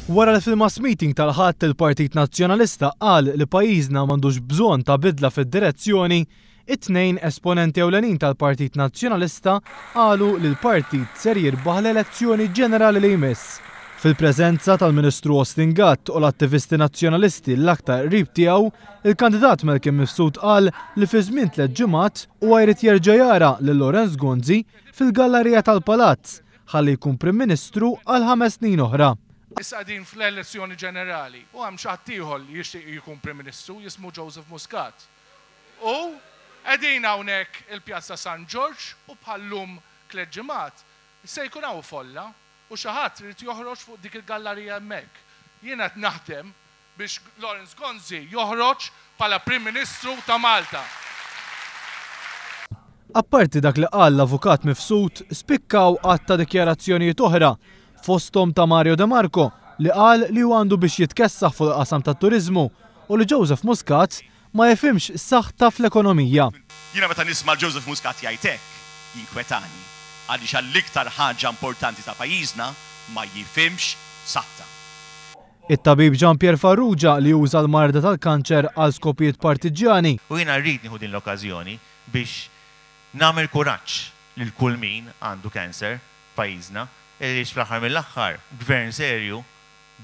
Wara li fil-mass meeting tal-Ħadd il-Partit Nazzjonalista qal li pajjiżna m'għandux bżonn ta' bidla fid-direzzjoni, it-Tnejn esponenti ewlenin tal-Partit Nazzjonalista qalu li l-partit ser jirbaħ l-elezzjoni ġenerali li jmiss. Fil-preżenza tal-Ministru Austin Gatt u l-attivisti Nazzjonalisti l-aktar qrib tiegħu, il-kandidat Malcolm Mifsud qal li fi żmien tlett ġimgħat huwa jrid jerġa' jara lil Lawrence Gonzi fil-gallarija tal-Palazz ħalli jkun Prim Ministru għal 5 snin oħra. Issa qegħdin fl-elezzjoni ġenerali u hemm xi ħadd ieħor li jixtieq jkun Prim Ministru jismu Joseph Muscat. U qegħdin hawnhekk il-Pjazza San Ġorġ u bħal-lum 3 ġimgħat se jkun hawn folla u xi ħadd irid joħroġ fuq dik il-gallarija hemmhekk. Jiena qed naħdem biex Lawrence Gonzi joħroġ bħala Prim Ministru ta' Malta. Apparti dak li qal l-avukat Mifsud, spikkaw għadd ta' dikjarazzjonijiet oħra, fosthom ta' Mario De Marco li qal li hu għandu biex jitkessaħ fuq il-qasam tat-turiżmu u li Joseph Muscat ma jifhimx saħta fl-ekonomija. Jiena meta nisma' Joseph Muscat jgħid hekk, jinkwetani għaliex għall-iktar ħaġa importanti ta' pajjiżna ma jifhimx saħta. It-tabib Jean Pierre Farrugia li uża l-marda tal-kanċer għal skopijiet partiġjani. U jiena rrid nieħu din l-okkażjoni biex nagħmel kuraġġ lil kull min għandu cancer f'pajjiżna, għaliex fl-aħħar mill-aħħar gvern serju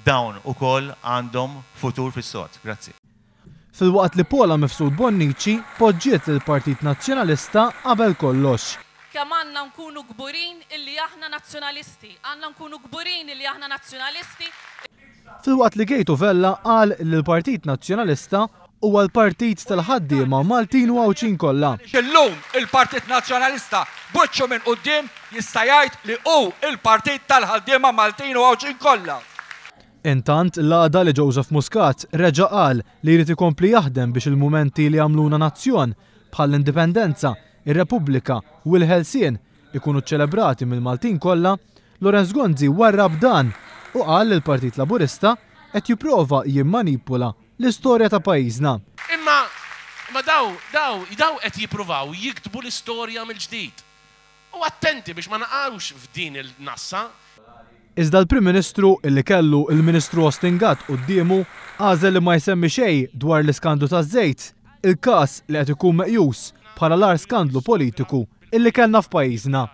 dawn ukoll għandhom futur fis-sod. Grazzi. Filwaqt li Paula Mifsud Bonnici poġġiet lill-Partit Nazzjonalista qabel kollox. Kemm għandna nkunu kburin illi aħna nazzjonalisti, għandna nkunu kburin illi aħna nazzjonalisti. Filwaqt li Kate Vella qal li l-Partit Nazzjonalista huwa l-partit tal-ħaddiema Maltin u Għawdxin kollha. Illum il-Partit Nazzjonalista b'wiċċu minn quddiem jista' jgħid li hu il-partit tal-ħaddiema Maltin u Għawdxin kollha. Intant l-għada li Joseph Muscat reġa' qal li jrid ikompli jaħdem biex il-mumenti li għamluna nazzjon bħall-indipendenza, ir-Repubblika u l-Ħelsien ikunu ċelebrati mill-Maltin kollha, Lawrence Gonzi warrab dan u qal li l-Partit Laburista qed jipprova jimmanipula l-istorja ta' pajjiżna. Imma ma daw, daw, daw qed jippruvaw jiktbu l-istorja mill-ġdid. U attenti biex ma naqgħux f'din il-nassa. Iżda l-Prim Ministru illi kellu il-Ministru Austin Gatt quddiemu għażel li ma jsemmi xejn dwar l-iskandlu taż-żejt, il-każ li qed ikun meqjus bħala l-agħar skandlu politiku illi kellna f'pajjiżna.